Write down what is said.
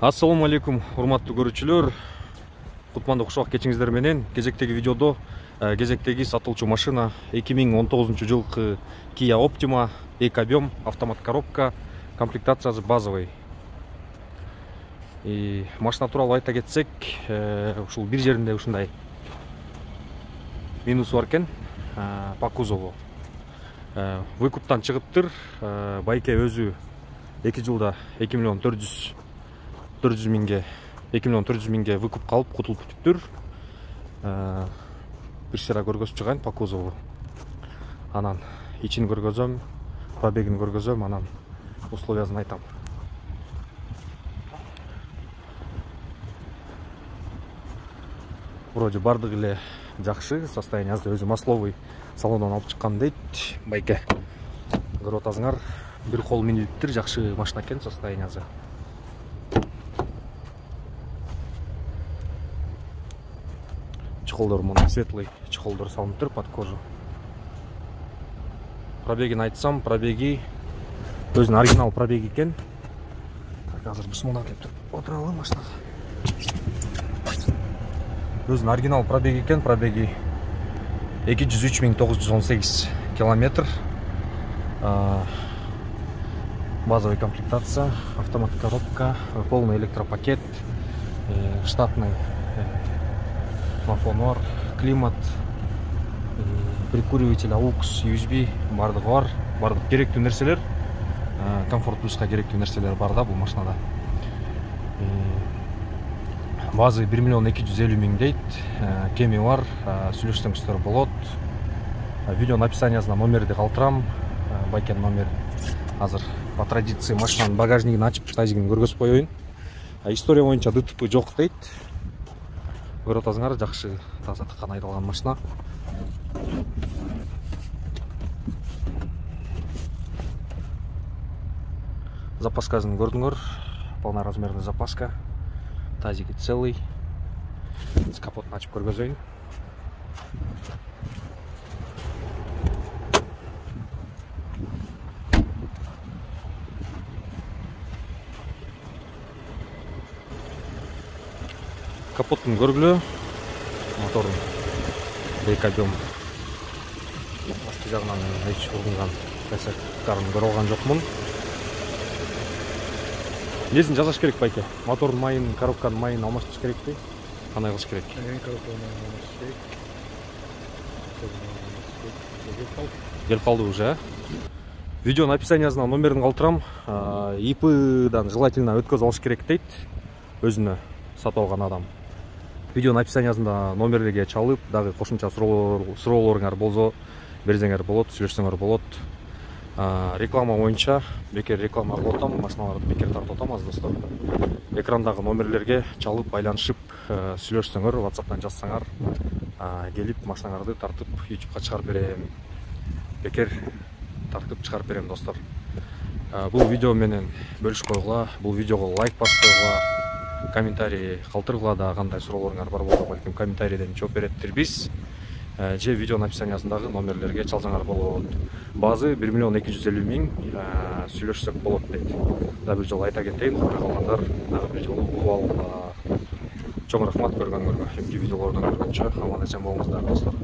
Ассаламу алейкум, урматтуу көрүүчүлөр. Кутмандуу кушак кечиңиздер менен. Кезектеги видеодо кезектеги сатылчу машина 2019 жылкы Kia Optima, эко-объем, автомат коробка, комплектациясы базовый. Машина тууралуу айта кетсек, ушул бир жеринде ушундай минусу бар экен, по кузову. Выкуптан чыгыптыр. Байке өзү 2 жылда 2 миллион 400 миңге выкуп калып кутулуп бүтүптүр. Бир сыра көргөзүп чыгайын по кузову. Анан ичин көргөзөм, пробегин көргөзөм, анан условиясын айтам. Вроде бардыгы эле жакшы, состояниясы өзү масловый салондон алып чыккан дейт байке. Көрүп атасыңар, бир кол минилиптир, жакшы машина экен, состояниясы. Чехолдор мына светлый чехолдор салыныптыр под кожу. Пробегин айтсам, пробеги өзүнүн оригинал пробеги экен. Азыр бисмилла деп отуралы машинага. Өзүнүн оригинал пробеги экен, пробеги 203.918 километр. Базовый комплектация, автомат коробка, полный электропакет, штатный мафонор, климат, прикуриватель, AUX, USB бардыгы бар. Бардык керектүү нерселер, комфорт плюска керектүү нерселер бар да бул машинада. Базы 1 миллион 250 миң дейт, кеми бар, сүйлөшсөңүздөр болот. Видеонун описаниясына номерди калтырам, байкенин номери. Азыр по традиции машинанын багажнигин ачып, тазигин көргөзүп коеюн. История боюнча ДТП жок дейт. Көрүп атасыңар, жакшы таза тыккан айдалган машина. Запаскасын көрдүңөр, полный размерный запаска. Тазиги целый. Капотун ачып көргөзөйүн. Капоттун көргүлө, мотордун эко-объем асты жагынан эч ургунган косяктарын көрүп алган жокмун. Несин жасаш керек байке? Мотордун майын, коробканын майын алмаштырыш керекпи? Кандай кылыш керек? Келип калды уже. Видеонун описаниясына номерин калтырам. ИПдан желательно өткөзүп алыш керек дейт. Өзүнө сатып алган адам. Видеонун описаниясында номерлерге чалып, дагы кошумча суроолоруңар болсо берсеңер болот, сүйлөшсөңөр болот. Реклама боюнча бекер реклама кылып атам, машиналарды бекер тартып атам аз достор. Экрандагы номерлерге чалып, байланышып, сүйлөшсөңөр, WhatsApp'тан жазсаңар, келип машинаңарды тартып YouTube'га чыгарып берем. Бекер тартып чыгарып берем достор. Бул видео менен бөлүшүп койгула, бул видеого лайк басып койгула, комментарий калтыргыла, да кандай суроолоруңар бар болсо балким комментарийден жооп беретирбиз. Же видеонун описаниясындагы номерлерге чалсаңар болот. Базы 1 миллион 250 миң, сүйлөшсөк болот дейт. Да бир жолу айта кетейин, калгандар дагы бир жолу угуп алгыла. Чоң рахмат көргөнгөргө. Эмки видеолордон көргөнчө аман эсен болуңуздар достор.